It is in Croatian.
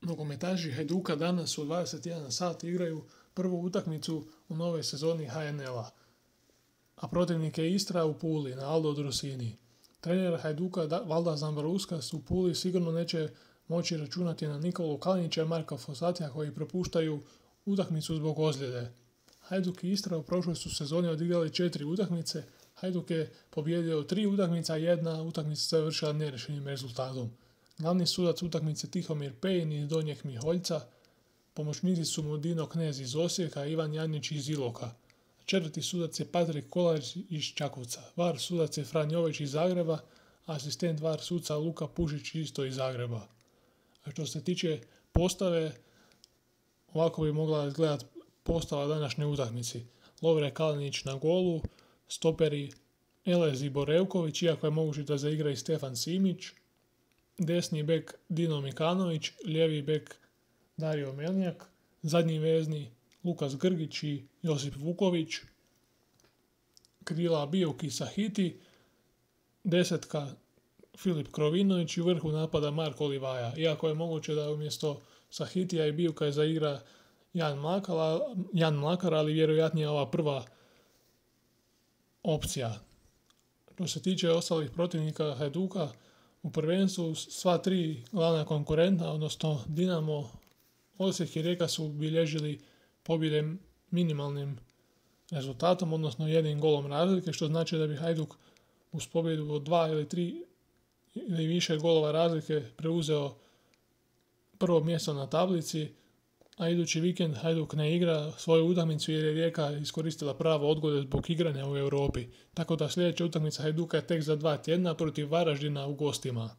Nogometaši Hajduka danas u 21 sat igraju prvu utakmicu u novoj sezoni HNL-a, a protivnik je Istra u Puli na Aldo Drusini. Trener Hajduka Valda Zambruskas u Puli sigurno neće moći računati na Nikolu Kalinića i Marka Fosatija koji propuštaju utakmicu zbog ozljede. Hajduk i Istra u prošloj su sezoni odigrali 4 utakmice. Hajduk je pobijedio 3 utakmice, a jedna utakmica se završila nerješenim rezultatom. Glavni sudac utakmice Tihomir Pejin iz Donjeg Miholjca, pomoćnici su mu Dino Knez iz Osijeka, Ivan Janić iz Iloka. Četvrti sudac je Patrik Kolarić iz Čakovca. VAR sudac je Fran Jović iz Zagreba, asistent VAR suca Luka Pušić isto iz Zagreba. A što se tiče postave, ovako bi mogla izgledati postava današnje utakmici. Lovre Kalinić na golu, stoperi Elez i Borevković, iako je moguće da zaigra i Stefan Simić, desni bek Dino Mikanović, lijevi bek Dario Melnjak, zadnji vezni Lukas Grgić i Josip Vuković, krila Bijuk i Sahiti, desetka Filip Krovinović i u vrhu napada Marko Livaja. Iako je moguće da umjesto Sahitija i Bijuka zaigra Jan Mlakar, ali vjerojatnije ova prva opcija. Što se tiče ostalih protivnika Hajduka, u prvenstvu sva tri glavna konkurenta, odnosno Dinamo, Osijek i Rijeka su bilježili pobjede minimalnim rezultatom, odnosno jednim golom razlike, što znači da bi Hajduk uz pobjedu od 2 ili 3 ili više golova razlike preuzeo prvo mjesto na tablici, a idući vikend Hajduk ne igra svoju utakmicu jer je Rijeka iskoristila pravo odgode zbog igranja u Europi. Tako da sljedeća utakmica Hajduka je tek za 2 tjedna protiv Varaždina u gostima.